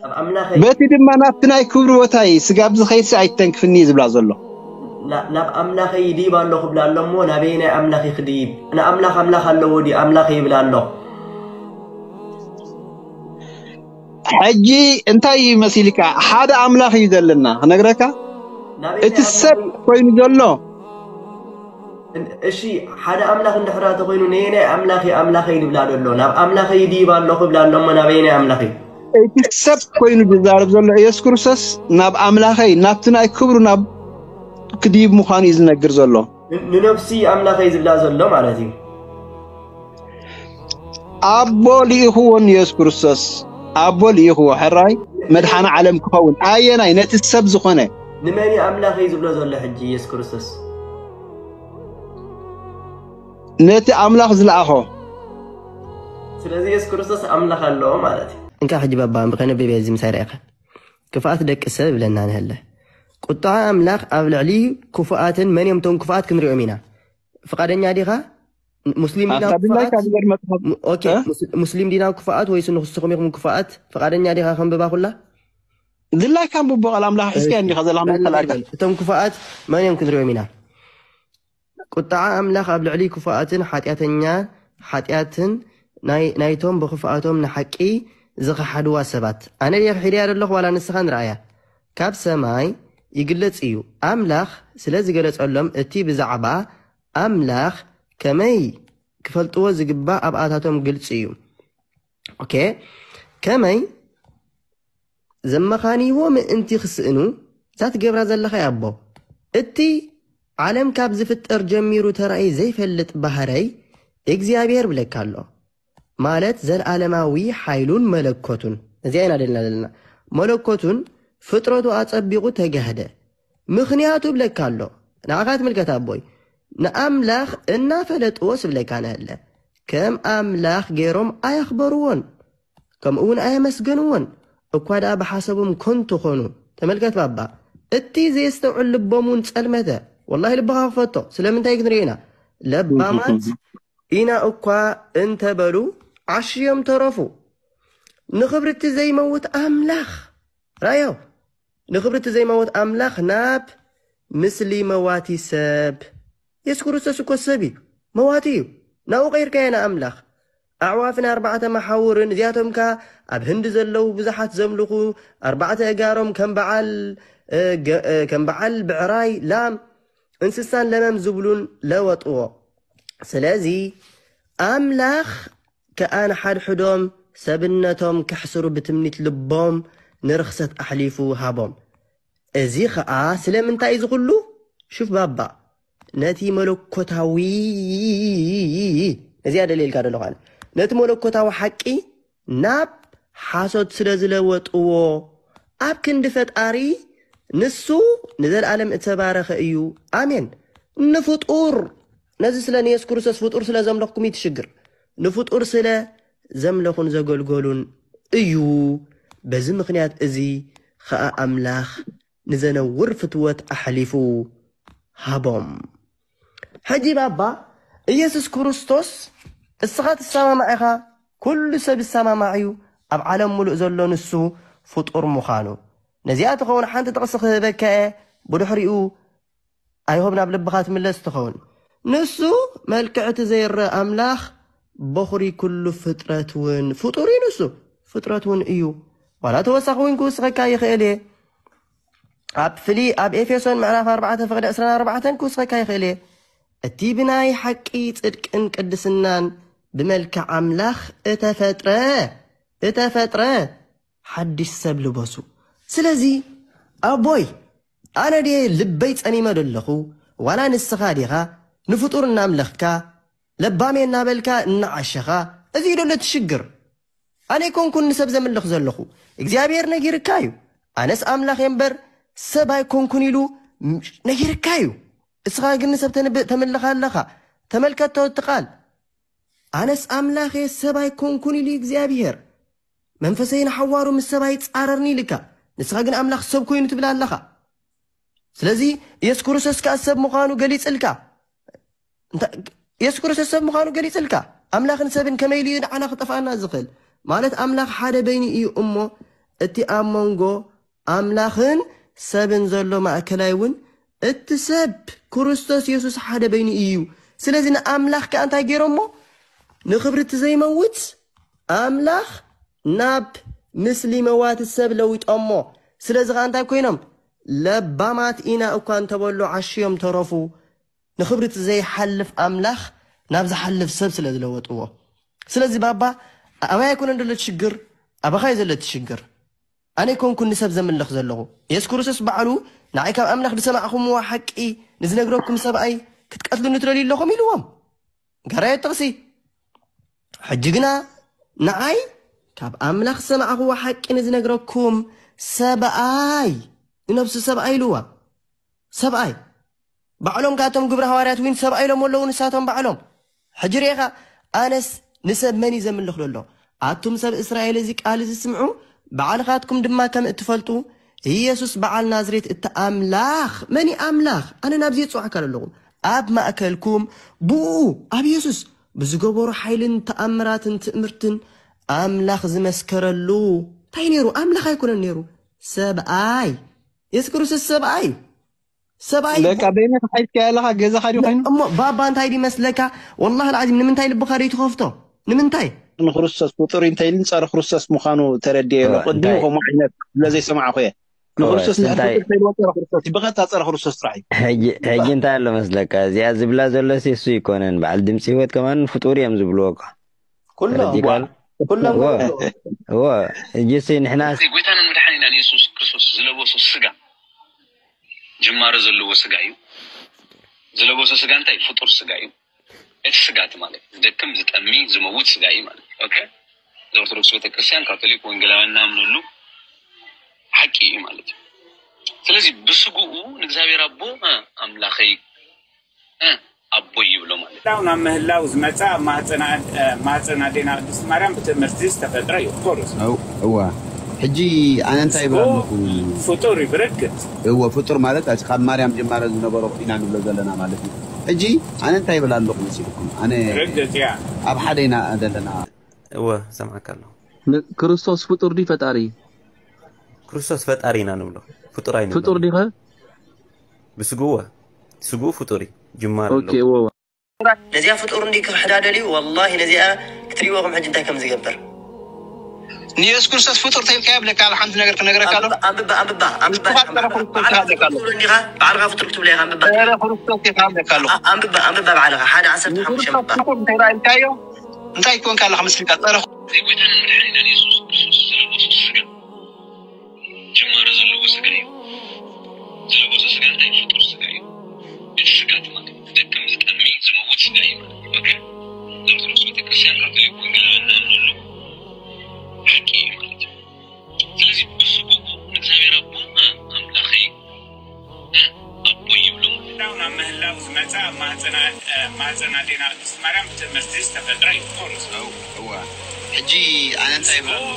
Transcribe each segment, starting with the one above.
ናብ ኣምላኸይ በቲ ድማ ናብቲ ናይ ክብሪ ቦታይ ስጋብ ዝኸይድሲ ኣይተንክፍኒ እዩ ዝብላ ዘሎ። ና- ናብ ኣምላኸይ ይድይብ ኣሎ ክብላ ኣሎ እሞ ናበይ ናይ ኣምላኽ ክድይብ? ንኣምላኽ ኣምላኽ ኣለዎ ድዩ? ኣምላኸይ ይብላ ኣሎ። ሕጂ እንታይ እዩ መሲልካ? ሓደ ኣምላኽ እዩ ዘለና ክነግረካ። ናበይ እቲ ናይ ሰብ ኣምላኽ- ኮይኑ ዘሎ እሺ ሓደ ኣምላኽ እንድሕራ ተኮይኑ ነየናይ ኣምላኸይ ኣምላኸይ ዝብላ ዘሎ? ናብ ኣምላኸይ ይድይብ ኣሎ ክብላ ኣሎ እሞ ናበይ ናይ ኣምላኸይ? እቲ ሰብ ኮይኑ ዝዛረብ ዘሎ ኢየሱስ ክርስቶስ ናብ ኣምላኸይ ናብቲ ናይ ክብሩ ናብ ክድይብ ምዃኑ እዩ ዝነግር ዘሎ። ን- ንነፍሲ ኣምላኸይ ዝብላ ዘሎ ማለት እዩ። ኣቦ ልኢኽዎ ንኢየሱስ ክርስቶስ ኣቦ ልኢኽዎ ሕራይ መድሓኒ ዓለም ክኸውን ኣየናይ ነቲ ሰብ ዝኾነ ንመን እዩ ኣምላኸይ ዝብሎ ዘሎ ሕጂ ኢየሱስ ክርስቶስ? ነቲ ኣምላኽ ዝለኣኾ ስለዚ ኢየሱስ ክርስቶስ ኣምላኽ ኣለዎ ማለት እዩ። እንካ ሕጂ ባባ ከነብብ እዚ ምሳይ ርኢኻ ክፍኣት ደቂ ሰብ ይብለና ንህለ ቁጣ ኣምላኽ ኣብ ልዕሊ ክፉኣትን መን እዮም ቶም ክፍኣት ክንሪኦም ኢና። ፍቓደኛ ዲኻ? ሙስሊም ዲና ኣታ ድላይካ ክፍኣት? ዝገርመ ጽሑፍ ሙ- ኦኬ፣ ሙስ- ሙስሊም ዲና ክፍኣት ወይስ ንስኹም ኢኹም ክፍኣት? ፍቓደኛ ዲኻ ከንብባ ኩላ? ድላይካ ንብቦ ቃል ኣምላኽ ሒዝካ እንዲኻ ዘላ መተላካ እቶም ክፍኣት መን እዮም ክንሪኦም ኢና። ቁጣዓ ኣምላኽ ኣብ ልዕሊ ክፉኣትን ሓጢኣተኛ ሓጢኣትን ናይ- ናይቶም ብኽፍኣቶም ንሓቂ ዝኸሓድዋ ሰባት። ኣነ ድየ ክሒደያ ዘለኹ ዋላ ንስኻ ንረኣያ? ካብ ሰማይ ይግለጽ እዩ። ኣምላኽ ስለ ዝገለጸሎም እቲ ብዛዕባ ኣምላኽ ከመይ ክፈልጥዎ ዝግባእ ኣብኣታቶም ግልጽ እዩ። ኦኬ ከመይ ዘመኻንይዎ ምእንቲ ክስእኑ እዛ ትገብራ ዘለኻ ኣቦ እቲ ዓለም ካብ ዝፍጠር ጀሚሩ ተራእዩ ዘይፈልጥ ባህረይ እግዚኣብሔር ብለካ ኣሎ ማለት ዘለዓለማዊ ሓይሉን መለኮቱን እዚኣ ኢና ደልና ዘለና መለኮቱን ፍጥረቱ ኣጸቢቑ ተጋህደ ምኽንያቱ ብለካ ኣሎ ንዓኻ ትምልከት ኣቦይ ንኣምላኽ እናፈለጥዎ ስብለካ ነህለ ከም ኣምላኽ ገይሮም ኣየኽበርዎን ከምኡ እውን ኣየመስገንዎን እኳ ደኣ ብሓሰቦም ኮንቱ ኾኑ ተመልከት ባባ እቲ ዘየስተውዕል ልቦም እውን ጸልመተ ወላሂ ልብኻ ክፈቶ ስለምንታይ ክንርኢ ኢና ለባማት ኢና እኳ እንተበሉ ዓሽዮም ተረፉ ንኽብሪ እቲ ዘይመውት ኣምላኽ ራዮ ንኽብሪ እቲ ዘይመውት ኣምላኽ ናብ ምስሊ መዋቲ ሰብ የሱስ ክርስቶስ እኮ ሰብ እዩ መዋቲ እዩ ናብኡ ቀይርካዮ ንኣምላኽ ኣዕዋፍን ኣርባዕተ መሓውርን እዚኣቶም ከ ኣብ ህንዲ ዘለዉ ብዙሓት ዘምልኹ ኣርባዕተ እጋሮም ከም በዓል ከም በዓል ብዕራይ ላም እንስሳን ለመም ዝብሉን ለወጥዎ ስለዚ ኣምላኽ ከኣ ንሓድሕዶም ሰብነቶም ከሕስሩ ብትምኒት ልቦም ንርኽሰት ኣሕሊፉ ሃቦም እዚ ኸኣ ስለምንታይ እዚ ኩሉ ሽፍ ባባ ነቲ መለኮታዊ እዚኣ ደልየልካ ደለኹ ኣነ ነቲ መለኮታዊ ሓቂ ናብ ሓሶት ስለ ዝለወጥዎ ኣብ ክንዲ ፈጣሪ ንሱ ንዘለኣለም እተባረኸ እዩ ኣሜን ንፍጡር ነዚ ስለ ንየሱስ ክርስቶስ ፍጡር ስለ ዘምለኽኩም ይትሽግር ንፍጡር ስለ ዘምለኹን ዘገልገሉን እዩ በዚ ምኽንያት እዚ ኸኣ ኣምላኽ ንዘነውር ፍትወት ኣሕሊፉ ሃቦም ሕጂ ባባ ኢየሱስ ክርስቶስ እስኻ ትሰማማዕ ኢኻ ኩሉ ሰብ ይሰማማዕ እዩ ኣብ ዓለም ሙሉእ ዘሎ ንሱ ፍጡር ምዃኑ ነዚኣ ትኸውን ሓንቲ ጥቕሲ ክህበካ እየ ብድሕሪኡ ኣይሆብ ናብ ልብኻ ትምለስ ትኸውን ንሱ መልክዕ እቲ ዘይረአ ኣምላኽ በኹሪ ኩሉ ፍጥረት እውን ፍጡር እዩ ንሱ ፍጥረት እውን እዩ ዋላ ተወሳኺ እውን ክውስኸካ ይኽእል እየ ኣብ ፍሊ ኣብ ኤፌሶን ምዕራፍ ኣርባዕተ ፍቕዲ ዕስራን ኣርባዕተን ክውስኸካ ይኽእል እየ እቲ ብናይ ሓቂ ጽድቅን ቅድስናን ብመልክዕ ኣምላኽ እተፈጥረ እተፈጥረ ሓድሽ ሰብ ልበሱ ስለዚ ኣቦይ ኣነ ድየ ልበይ ጸሚመ ደለኹ ዋላ ንስኻ ዲኻ ንፍጡር እናምለኽካ ለባሜ እናበልካ እናዓሸኻ እዚ እዩ ደሎ ትሽግር ኣነ ይኮንኩን ንሰብ ዘምልኽ ዘለኹ እግዚኣብሔር ነጊርካ እዩ ኣነስ ኣምላኽ እየ እምበር ሰብ ኣይኮንኩን ኢሉ ነጊርካ እዩ እስኻ ግን ንሰብ ተምልኽ ኣለኻ ተመልከቶ እቲ ቃል ኣነስ ኣምላኽ እየ ሰብ ኣይኮንኩን ኢሉ እግዚኣብሔር መንፈሰይ ንሓዋሩ ምስ ሰብ ኣይጻረርኒ ኢልካ ንስኻ ግን ኣምላኽ ሰብ ኮይኑ ትብል ኣለኻ ስለዚ የሱስ ክርስቶስ ከኣ ሰብ ምዃኑ ገሊጽልካ የሱስ ክርስቶስ ሰብ ምዃኑ ገሊጽልካ ኣምላኽን ሰብን ከመይ ኢሉ እዩ ንዓና ክጠፍኣና ዝኽእል ማለት ኣምላኽ ሓደ በይኑ እዩ እሞ እቲ ኣብ መንጎ ኣምላኽን ሰብን ዘሎ ማእከላይ እውን እቲ ሰብ ክርስቶስ የሱስ ሓደ በይኑ እዩ። ስለዚ ንኣምላኽ ከኣ እንታይ ገይሮሞ? ንኽብሪ እቲ ዘይመውት ኣምላኽ ናብ ምስሊ መዋቲ ሰብ ለዊጦሞ። ስለዚ ኸኣ እንታይ ኮይኖም? ለባማት ኢና እኳ እንተበሉ ዓሽዮም ተረፉ። ንኽብሪ እቲ ዘይሓልፍ ኣምላኽ ናብ ዝሓልፍ ሰብ ስለ ዝለወጥዎ። ስለዚ ባባ፣ ኣባይ ኣይኮነን ዘሎ እቲ ሽግር፣ ኣባኻ እዩ ዘሎ እቲ ሽግር። ኣነ ኣይኮንኩን ንሰብ ዘምልኽ ዘለኹ። የሱስ ክርስቶስ ባዕሉ ንዓይ ካብ ኣምላኽ ዝሰማዕኹምዎ ሓቂ ንዝነግረኩም ሰብኣይ ክትቀትሉኒ ትደልዩ ኣለኹም ኢልዎም። ጋራዮ ጥቕሲ። ሕጂ ግና ንዓይ ካብ ኣምላኽ ዝሰማዕኹዎ ሓቂ ንዝነግረኩም ሰብኣይ፣ ንነብሱ ሰብኣይ ኢልዋ። ሰብኣይ። ባዕሎም ካቶም ግብረ ሃዋርያት እውን ሰብኣይ ኢሎም ኣለዉ ንሳቶም ባዕሎም። ሕጂ ርኤኻ፣ ኣነስ ንሰብ መን እዩ ዘምልኽ ዘሎ? ኣቱም ሰብ እስራኤል፣ እዚ ቃል እዚ ስምዑ፣ ባዕልኻትኩም ድማ ከም እትፈልጡ፣ ኢየሱስ በዓል ናዝሬት እቲ ኣምላኽ፣ መን እዩ ኣምላኽ? ኣነ ናብዚ የጽዋዕካ ኣለኹ። ኣብ ማእከልኩም ብኡ፣ ኣብ ኢየሱስ፣ ብዝገበሮ ሓይልን ተኣምራትን ትእምርትን ኣምላኽ ዝመስከረሉ። እንታይ ነይሩ? ኣምላኽ ኣይኮነን ነይሩ። ሰብኣይ። የሱስ ክርስቶስ ሰብኣይ እዩ። ሰብኣይ ለካ በይነኻ ሓይስካ ኣለኻ፣ ገዛኻ ድዩ ኮይኑ? እሞ ባባ እንታይ ድዩ መስለካ? ወላሂ ልዓዚም ንምንታይ ልብኻ ደይ ትኸፍቶ? ንምንታይ? ንክርስቶስ ፍጡር እንተ ኢልን ጸረ ክርስቶስ ምዃኑ ተረድኤ። እወ፣ ቅድሚኡ እንታይ? ከምኡ ዓይነት ስለ ዘይሰማዕኹ እየ። እወ፣ ንክርስቶስ እንድሕር እንታይ? ፍጡር ተይልዎ ጸረ ክርስቶስ እዩ። ብቐጥታ ጸረ ክርስቶስ ጥራሕ እዩ። ሕጂ፣ ሕጂ እንታይ ኣሎ መስለካ? እዚኣ ዝብላ ዘሎ ሴሱ ይኮነን። በዓል ድምፂ ህይወት ከማን ፍጡር እዮም ዝብልዎ እኮ። ኩሎም። ተረዲእካ ኣሎ? ኩሎም እወ፣ ማለት ነው። እወ፣ ሕጂ ሲ ንሕና እዚ ጎይታናን መድሓኒናን የሱስ ክርስቶስ ዝለበሶ ስጋ ጅማሮ ዘለዎ ስጋ እዩ። ዝለበሶ ስጋ እንታይ? ፍጡር ስጋ እዩ። እቲ ስጋ እቲ ማለት ዝደክም፣ ዝጠሚ፣ ዝመውት ስጋ እዩ ማለት። ኦኬ? እዚ ኦርቶዶክስ ቤተክርስትያን፣ ካቶሊክ፣ ወንጌላውያን እናምነሉ ሓቂ እዩ ማለት እዩ። ስለዚ ብስግኡ ንእግዚኣብሔር ኣቦ፣ እ፣ ኣምላኸይ፣ እ፣ ኣቦይ ይብሎ ማለት እዩ። ዳው ናብ ምህላው ዝመጸ ኣብ ማህፀና፣ እ፣ ማህፀና ኣዴና ቅድስት ማርያም ብትእምርቲ ዝተፈጥረ እዩ። ኦፍኮርስ። እው፣ እዋ። ሕጂ ኣነ እንታይ ይብል ኣለኹ? ፍጡር እዩ ብርግጽ። እወ፣ ፍጡር ማለት ኣዚ ካብ ማርያም ጀማረ ዝነበሮ ኢና ንብሎ ዘለና ማለት እዩ። ሕጂ ኣነ እንታይ ይብል ኣለኹ መሲልኩም? ኣነ ርግጽ እያ። ኣብ ሓደ ኢና ዘለና። እወ፣ ሰምዓካ ኣለኹ። ን-፣ ክርስቶስ ፍጡር ድዩ ፈጣሪ? ክርስቶስ ፈጣሪ ኢና ንብሎ። ፍጡር ኣይንብሎ። ፍጡር ዲኸ? ብስግኡ እወ። ስግኡ ፍጡር እዩ። ጅማር ኦኬ፣ ኣለዎ። እወ፣ እወ። ነዚኣ ፍጡር እንዲ ክሕዳ ደልዩ፣ ወላሂ ነዚኣ ክትሪእዎ ከም ሕጂ እንታይ ከም ዝገብር። ንየሱስ ክርስቶስ ፍጡር ተይልካ የብለካ፣ ኣብ ሓንቲ ነገር ክነግረካ ኣሎ። ኣንብባ፣ ኣንብባ፣ ኣንብባ፣ ኣንብባ። ንስኻ ጸረ ክርስቶስ ባዕልኻ ትብለካ ኣሎ። ፍጡር እንዲኻ፣ ባዕልኻ ፍጡር ክትብሎ ኢኻ፣ ኣንብባ። ጸረ ክርስቶስ ኢኻ እብለካ ኣለኹ። ኣ-፣ ኣንብባ፣ ኣንብባ ባዕልኻ፣ ሓደ ዓሰርተ ሓሙሽተ ንክርስቶስ ኣንብባ። ፍጡር እንተ ኢልካዮ፣ እንታይ ኮንካ ኣለኻ መስልካ? ጸረ ዘይጎይታን መድሓኒናን የሱስ ክርስቶስ ዝለበሶ ስጋ ጅማሮ ዘለዎ ስጋ እዩ። ዝለበሶ ስጋ እንታይ? ፍጡር ስጋ እዩ። እቲ ስጋ እቲ ማለት ዝደክም፣ ዝጠሚ፣ ዝመውት ስጋ እዩ ማለት እዩ። ኦኬ? ኦርቶዶክስ ቤተክርስትያን፣ ካቶሊክ፣ ወንጌላውያን እናምነሉ ሓቂ እዩ ማለት እዩ። ስለዚ ብስግኡ ንእግዚኣብሔር ኣቦ፣ እ፣ ኣምላኸይ፣ እ፣ ኣቦይ ይብሎ ማለት እዩ። ዳው ናብ ምህላው ዝመጸ ኣብ ማህፀና፣ እ፣ ማህፀና ኣዴና ቅድስት ማርያም ብትእምርቲ ዝተፈጥረ እዩ። ኦፍኮርስ። እው፣ እዋ። ሕጂ ኣነ እንታይ ይብል ኣለኹ?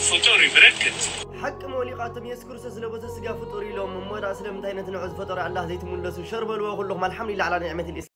ፍጡር እዩ ብርግጽ። ሓቂ መሊቓቶም የሱስ ክርስቶስ ዝለበሰ ስጋ ፍጡር ኢሎም፣ እሞ ደኣ ስለምንታይ ነቲ ንዑ ዝፈጠሮ ኣላህ ዘይትምለሱ? ሸር በልዎ ኩልኹም፣ ኣልሓምዱሊላህ ዓላ ኒዕመቲል ኢስላም።